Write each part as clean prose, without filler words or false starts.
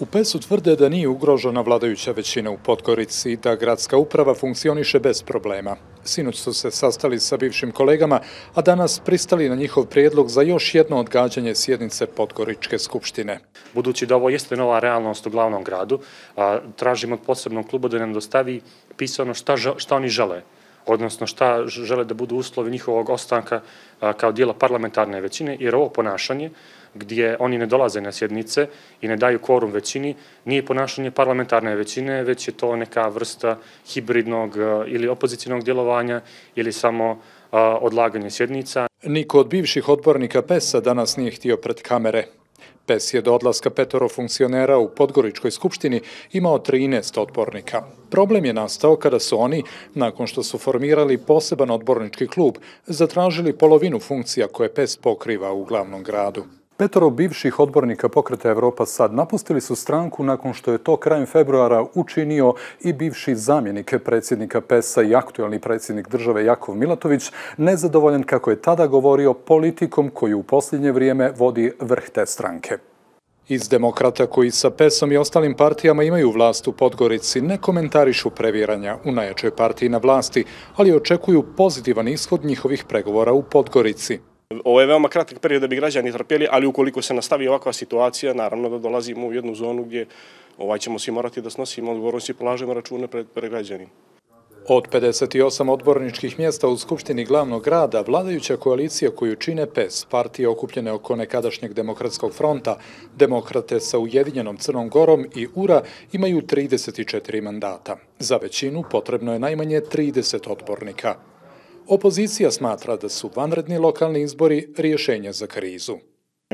U PES-u tvrde da nije ugrožena vladajuća većina u Podgorici i da gradska uprava funkcioniše bez problema. Sinoć su se sastali sa bivšim kolegama, a danas pristali na njihov prijedlog za još jedno odgađanje sjednice Podgoričke skupštine. Budući da ovo jeste nova realnost u glavnom gradu, tražimo od posebnog kluba da nam dostavi pisano šta oni žele, odnosno šta žele da budu uslovi njihovog ostanka kao dijela parlamentarne većine, jer ovo ponašanje gdje oni ne dolaze na sjednice i ne daju kvorum većini, nije ponašanje parlamentarne većine, već je to neka vrsta hibridnog ili opozicijnog djelovanja ili samo odlaganje sjednica. Niko od bivših odbornika PES-a danas nije htio pred kamere. PES je do odlaska 5 funkcionera u Podgoričkoj skupštini imao 13 odbornika. Problem je nastao kada su oni, nakon što su formirali poseban odbornički klub, zatražili polovinu funkcija koje PES pokriva u glavnom gradu. 5 bivših odbornika Pokreta Evropa Sad napustili su stranku nakon što je to krajem februara učinio i bivši zamjenik predsjednika PES-a i aktuelni predsjednik države Jakov Milatović, nezadovoljan, kako je tada govorio, politikom koju u posljednje vrijeme vodi vrh te stranke. Iz Demokrata, koji sa PES-om i ostalim partijama imaju vlast u Podgorici, ne komentarišu previranja u najjačoj partiji na vlasti, ali očekuju pozitivan ishod njihovih pregovora u Podgorici. Ovo je veoma kratak period da bi građani trpjeli, ali ukoliko se nastavi ovakva situacija, naravno da dolazimo u jednu zonu gdje ćemo svi morati da snosimo odgovornost i polažemo račune pred građanima. Od 58 odborničkih mjesta u Skupštini glavnog grada, vladajuća koalicija koju čine PES, partije okupljene oko nekadašnjeg Demokratskog fronta, Demokrate sa Ujedinjenom Crnom Gorom i URA imaju 34 mandata. Za većinu potrebno je najmanje 30 odbornika. Opozicija smatra da su vanredni lokalni izbori rješenje za krizu.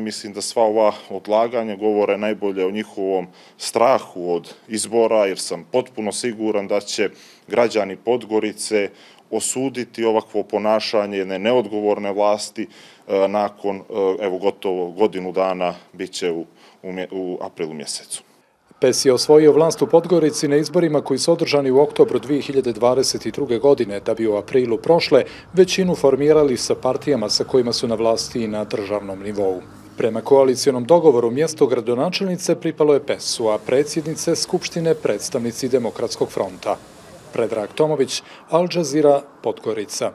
Mislim da sva ova odlaganja govore najbolje o njihovom strahu od izbora, jer sam potpuno siguran da će građani Podgorice osuditi ovakvo ponašanje jedne neodgovorne vlasti nakon gotovo godinu dana, bit će u aprilu mjesecu. PES je osvojio vlast u Podgorici na izborima koji su održani u oktobru 2022. godine, da bi u aprilu prošle većinu formirali sa partijama sa kojima su na vlasti i na državnom nivou. Prema koalicijonom dogovoru mjesto gradonačelnice pripalo je PES-u, a predsjednice Skupštine predstavnici Demokratskog fronta. Predrag Tomović, Al Jazeera, Podgorica.